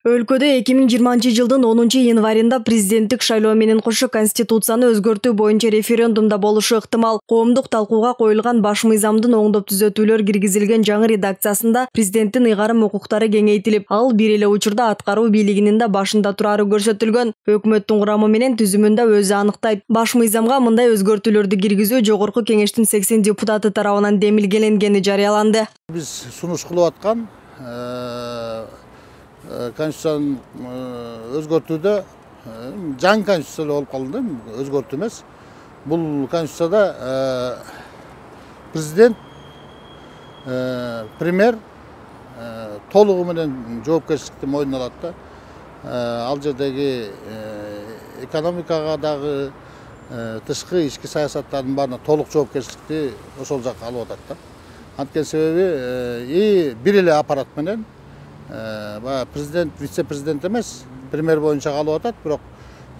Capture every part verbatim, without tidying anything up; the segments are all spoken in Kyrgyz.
Өлкөдө эки миң жыйырманчы жылдын онунчу январында президенттик шайлоо менен кошо конституцияны өзгөртүү боюнча референдумда болушу ыктымал. Коомдук талкууга коюлган баш мыйзамдын оңдоп түзөтүүлөр киргизилген жаңы редакциясында президенттин ыйгарым укуктары кеңейтилип, ал бир эле учурда аткаруу бийлигинин да башында турары көрсөтүлгөн. Өкмөттүн курамы менен түзүмүндө өзү аныктайт. Баш мыйзамга мындай өзгөртүүлөрдү киргизүү Жогорку Кеңештин сексен депутаты тарабынан демилгеленгени жарыяланды. Биз сунуш кылып аткан Конституцияны өзгөртүүдө жаңы конституция болуп калды, өзгөртүү эмес. Бул конституцияда президент, премьер толугу менен жоопкерчиликти мойнуна алат да. Ал жердеги экономикага дагы, тышкы ички саясаттардын баарына толук жоопкерчиликти ошол жак алып атат да. Анткени себеби и бир эле аппарат менен президент, вице-президент эмес, премьер боюнча калып атат, бирок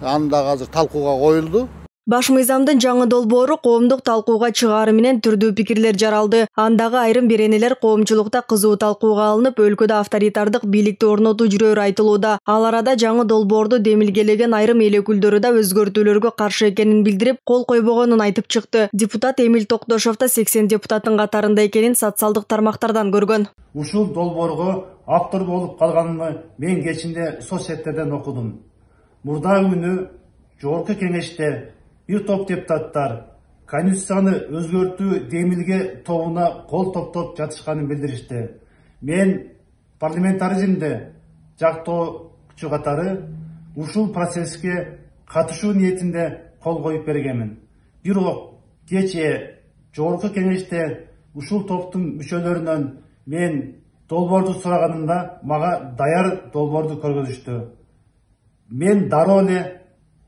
аны дагы азыр талкууга коюлду. Баш мыйзамдын жаңы долбоору коомдук талкууга чыгаары менен түрдүү пикирлер жаралды. Андагы айрым беренелер коомчулукта кызуу талкууга алынып, өлкөдө авторитардык бийликти орнотуу жүрөөрү айтылууда. Ал арада жаңы долбоорду демилгелеген айрым эл өкүлдөрү да өзгөртүүлөргө каршы экенин билдирип, кол койбогонун айтып чыкты. Депутат Эмил Токтошов да сексен депутаттын катарында экенин социалдык тармактардан көргөн. Ушул долбоорго автор болуп калганымды мен кечинде соцсеттерден окудум. Мурдагы күнү Жогорку Кеңеште бир топ депутаттар Конституцияны өзгөртүү демилге тобуна кол топтоп жатышканын билдиришти. Мен парламентаризмде жактоочу катары ушул процесске катышуу ниетинде кол коюп бергенмин. Бирок кечээ Жогорку Кеңеште ушул топтун мүчөлөрүнөн мен долбоорду сураганымда мага даяр долбоорду көргөзүштү. Мен дароо эле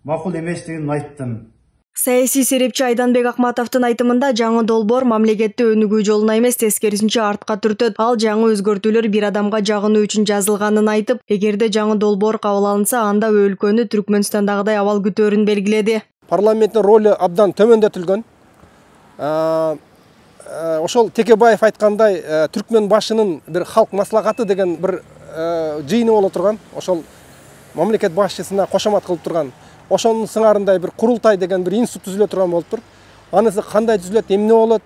макул эместигин айттым. Саясий серепчи Айданбек Акматовдун айтымында жаңы долбоор мамлекетти өнүгүү жолуна эмес, тескерисинче артка түртөт. Ал жаңы өзгөртүүлөр бир адамга жагынуу үчүн жазылганын айтып, эгерде жаңы долбоор кабыл алынса, анда өлкөнү Түркмөнстандагыдай абал күтөөрүн белгиледи. Парламенттин ролу абдан төмөндөтүлгөн. Ошол Текебаев айткандай, түркмөн башынын бир халк маслахаты деген бир жыйыны боло турган, ошол мамлекет башчысына кошомат кылып турган. Ошонун сыңарындай бир курултай деген бир институт түзүлө турган болуптур. Анысы кандай түзүлөт, эмне болот?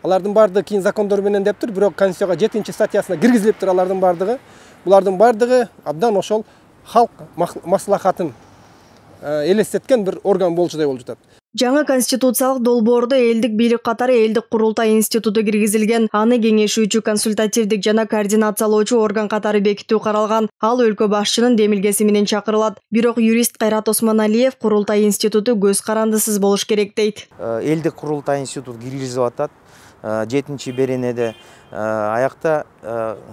Алардын бардыгы кийин закондор менен дептир, бирок Конституцияга жетинчи статьясына киргизилиптир алардын бардыгы. Булардын бардыгы абдан ошол халк маслахатын элестеткен бир орган болчудай болуп жатат. Жаңы конституциялык долбоордо элдик бийлик катары элдик курултай институту киргизилген. Аны кеңешүүчү, консультативдик жана координациялоочу орган катары бекитүү каралган. Ал өлкө башчынын демилгеси менен чакырылат. Бирок юрист Кайрат Осмоналиев курултай институту көз карандысыз болуш керек дейт. Элдик курултай институт киргизип атат. жетинчи беренеде аякта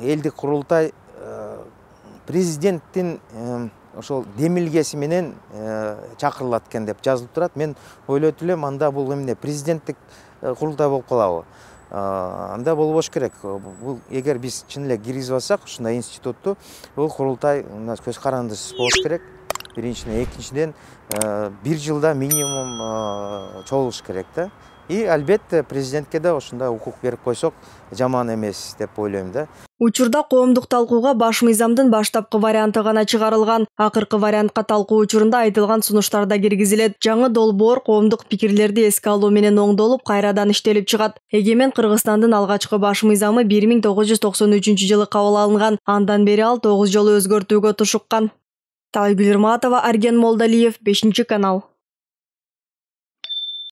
элдик курултай президенттин ошол демилгеси менен чакырылат экен деп жазылып турат. Мен ойлойт элем, анда бул эмне президенттик курултай болуп калабы? Анда болбош керек. Бул эгер биз чын эле киргизип алсак ушундай институтту, бул курултай көз карандысыз болуш керек. Биринчиден, экинчиден бир жылда минимум чогулуш керек да. И албетте президентке да ушундай укук берип койсок жаман эмес деп ойлойм да. Учурда коомдук талкууга баш мыйзамдын баштапкы варианты гана чыгарылган. Акыркы вариантка талкуу учурунда айтылган сунуштар да киргизилет. Жаңы долбоор коомдук пикирлерди эске алуу менен оңдолуп, кайрадан иштелип чыгат. Эгемен Кыргызстандын алгачкы баш мыйзамы бир миң тогуз жүз токсон үчүнчү жылы кабыл алынган. Андан бери ал тогуз жолу өзгөртүүгө тушуккан. Талайгүл Ирматова, Арген Молдалиев, бешинчи канал.